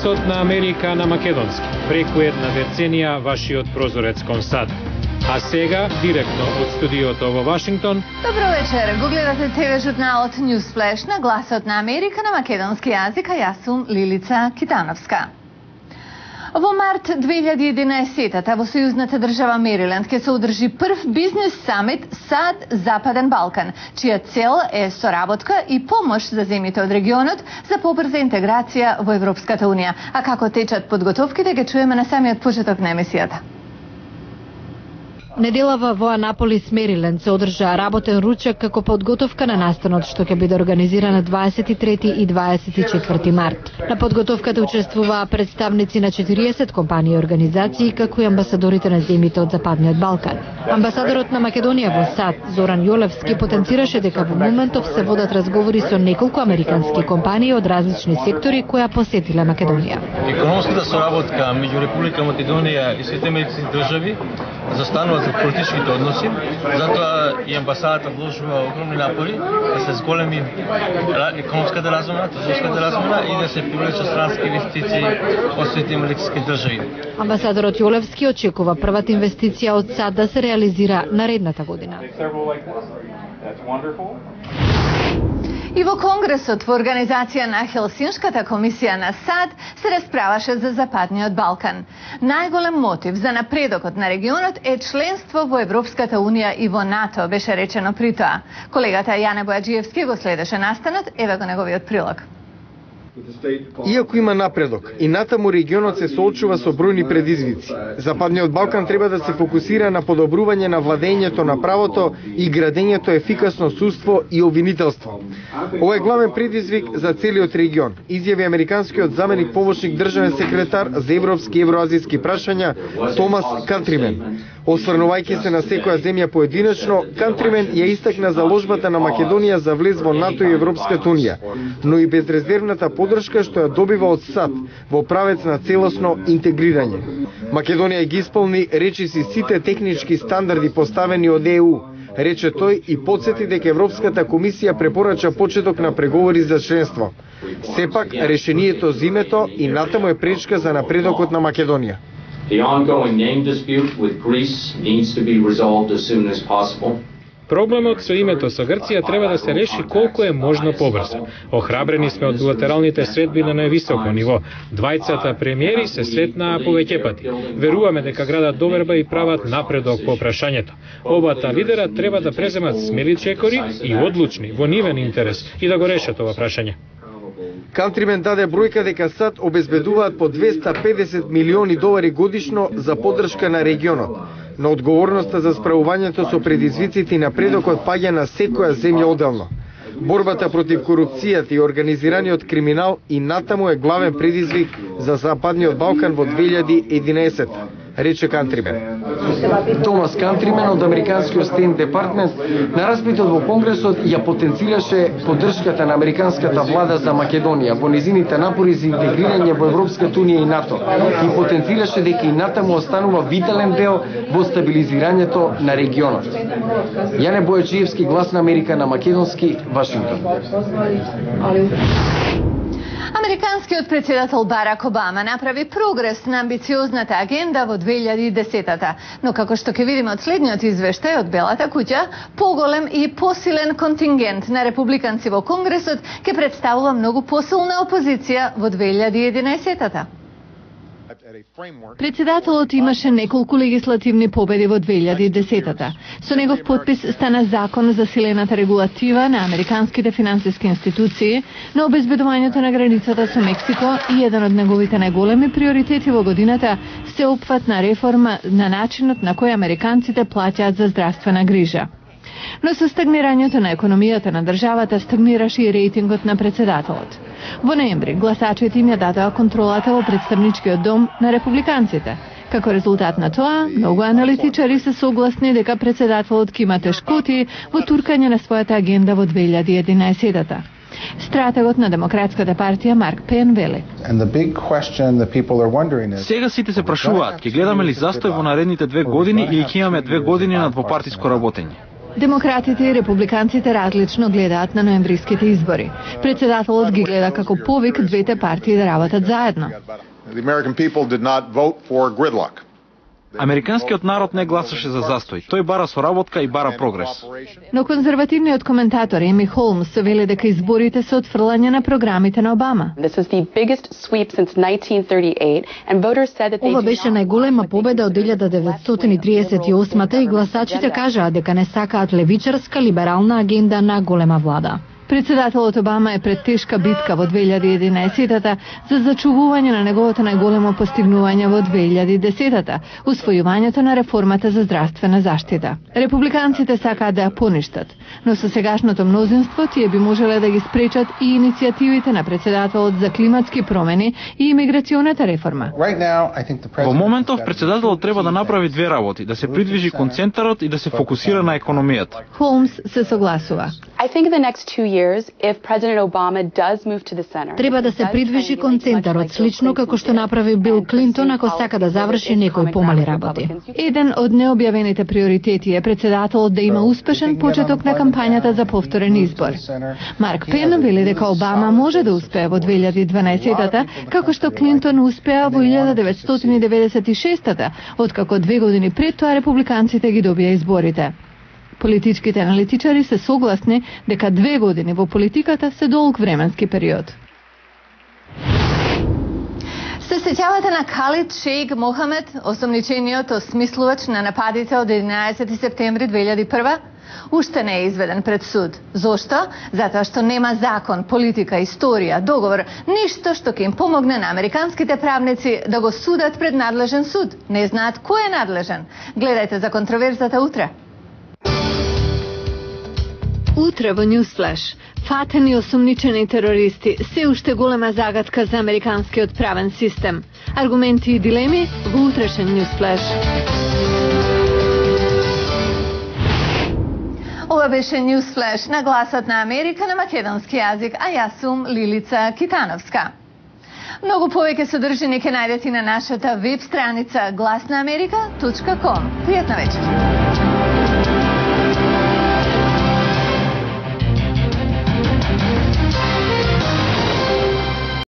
Гласот на Америка на македонски. Преку една деценија вашиот прозорец кон САД. А сега, директно од студиото во Вашингтон. Добро вечер, го гледате ТВ журналот Newsflash на Гласот на Америка на македонски јазик, а јас сум Лилица Китановска. Во март 2011 во сојузната држава Мериленд ќе се одржи прв бизнес самит САД Западен Балкан, чија цел е соработка и помош за земјите од регионот за побрза интеграција во Европската унија. А како течат подготовките ќе чуеме на самиот почеток на емисијата. Неделава во Анаполис, Мериленд, се одржа работен ручек како подготовка на настанот што ќе биде организиран на 23 и 24 март. На подготовката учествуваа представници на 40 компании и организации, како и амбасадорите на земјите од Западниот Балкан. Амбасадорот на Македонија во САД, Зоран Јолевски, потенцираше дека во моментов се водат разговори со неколку американски компании од различни сектори која посетиле Македонија. Економската соработка меѓу Република Македонија и сите американски држави застанува за политичките односи, затоа и амбасадата вложува огромни напори да се зголеми економската размена, трговската размена и да се привлечат странски инвестиции од сите американски држави. Амбасадорот Јолевски очекува првата инвестиција од САД да се реализира наредната година. И во Конгресот во организација на Хелсиншката комисија на САД се расправаше за Западниот Балкан. Најголем мотив за напредокот на регионот е членство во Европската унија и во НАТО, беше речено при тоа. Колегата Јане Бојаджиевски го следеше настанот, еве го неговиот прилог. Иако има напредок, и натаму регионот се соочува со бројни предизвици. Западниот Балкан треба да се фокусира на подобрување на владењето на правото и градењето ефикасно судство и обвинителство. Ова е главен предизвик за целиот регион, изјави американскиот заменик помошник државен секретар за европски и евроазијски прашања Томас Кантримен. Осврнувајќи се на секоја земја поединечно, Кантримен ја истакна заложбата на Македонија за влез во НАТО и Европската унија, но и безрезервната поддршка што ја добива од САД во правец на целосно интегрирање. Македонија ги исполни речиси сите технички стандарди поставени од ЕУ, рече тој и потсети дека Европската комисија препорача почеток на преговори за членство. Сепак, решението за името и натаму е пречка за напредокот на Македонија. The ongoing name dispute with Greece needs to be resolved as soon as possible. Проблемот со името со Грција треба да се реши колку е можно побрзо. Охрабрени сме од билатералните средби на највисоко ниво. Двајцата премиери се сретнаа повеќе пати. Веруваме дека градат доверба и прават напредок по прашањето. Обата лидера треба да преземат смели чекори и одлучни во нивен интерес и да го решат ова прашање. Кантримен даде бројка дека САД обезбедуваат по $250 милиони годишно за поддршка на регионот, но одговорноста за справувањето со предизвиците и напредокот паѓа на секоја земја одделно. Борбата против корупцијата и организираниот криминал и натаму е главен предизвик за Западниот Балкан во 2011, рече Кантримен. Томас Кантримен од американскиот Стейт Департмент на распитот во Конгресот ја потенцираше поддршката на американската влада за Македонија во незините напори за интегрирање во Европската унија и НАТО и потенцираше дека и натаму останува витален дел во стабилизирањето на регионот. Јане Бојаджиевски, Глас на Америка на македонски, Вашингтон. Американскиот председател Барак Обама направи прогрес на амбициозната агенда во 2010-та, но како што ќе видиме од следниот извештај од Белата куќа, поголем и посилен контингент на републиканци во Конгресот ќе представува многу посилна опозиција во 2011-та. Председателот имаше неколку легислативни победи во 2010-та. Со негов подпис стана закон за силената регулатива на американските финансиски институции, на обезбедувањето на границата со Мексико и еден од неговите најголеми приоритети во годината сеопфатна реформа на начинот на кој американците плаќаат за здравствена грижа. Но со стагнирањето на економијата на државата стагнираше и рейтингот на председателот. Во ноември гласачите им ја дадоа контролата во представничкиот дом на републиканците. Како резултат на тоа, многу аналитичари се согласни дека председателот ќе има тешкоти во туркање на својата агенда во 2011-та. Стратегот на Демократската партија Марк Пен вели: Сега сите се прашуваат, ќе гледаме ли застој во наредните 2 години или ќе имаме 2 години на двопартиско работење? Демократите и републиканците различно гледаат на ноемвриските избори. Председателот ги гледа како повик двете партии да работат заедно. Американскиот народ не гласаше за застој. Тој бара соработка и бара прогрес. Но конзервативниот коментатор Еми Холмс вели дека изборите се отфрлање на програмите на Обама. Ова беше најголема победа од 1938 и гласачите кажаа дека не сакаат левичарска либерална агенда на голема влада. Председателот Обама е пред тешка битка во 2011-та за зачувување на неговото најголемо постигнување во 2010-та, усвојувањето на реформата за здравствена заштита. Републиканците сакаат да ја поништат, но со сегашното мнозинство тие би можеле да ги спречат и иницијативите на председателот за климатски промени и имиграционата реформа. Во моментов председателот треба да направи две работи, да се придвижи кон центарот и да се фокусира на економијата. Холмс се согласува. Треба да се придвижи кон центарот, слично како што направи Бил Клинтон ако сака да заврши некои помали работи. Еден од необјавените приоритети е председателот да има успешен почеток на кампањата за повторен избор. Марк Пен вели дека Обама може да успее во 2012-та, како што Клинтон успеа во 1996-та, откако 2 години пред тоа републиканците ги добија изборите. Политичките аналитичари се согласни дека 2 години во политиката се долг временски период. Се сеќавате на Калид Шејх Мохамед, осомничениот осмислувач на нападите од 11 септември 2001? Уште не е изведен пред суд. Зошто? Затоа што нема закон, политика, историја, договор, ништо што ќе им помогне на американските правници да го судат пред надлежен суд. Не знаат кој е надлежен. Гледајте за контроверзата утре. Утре во Newsflash, фатени осомничени терористи се уште голема загадка за американскиот правен систем. Аргументи и дилеми во утрешен Newsflash. Ова беше Newsflash на гласот на Америка на македонски јазик, а јас сум Лилица Китановска. Многу повеќе содржини ќе најдете на нашата веб страница glasnaamerica.com. Пријатна вечер.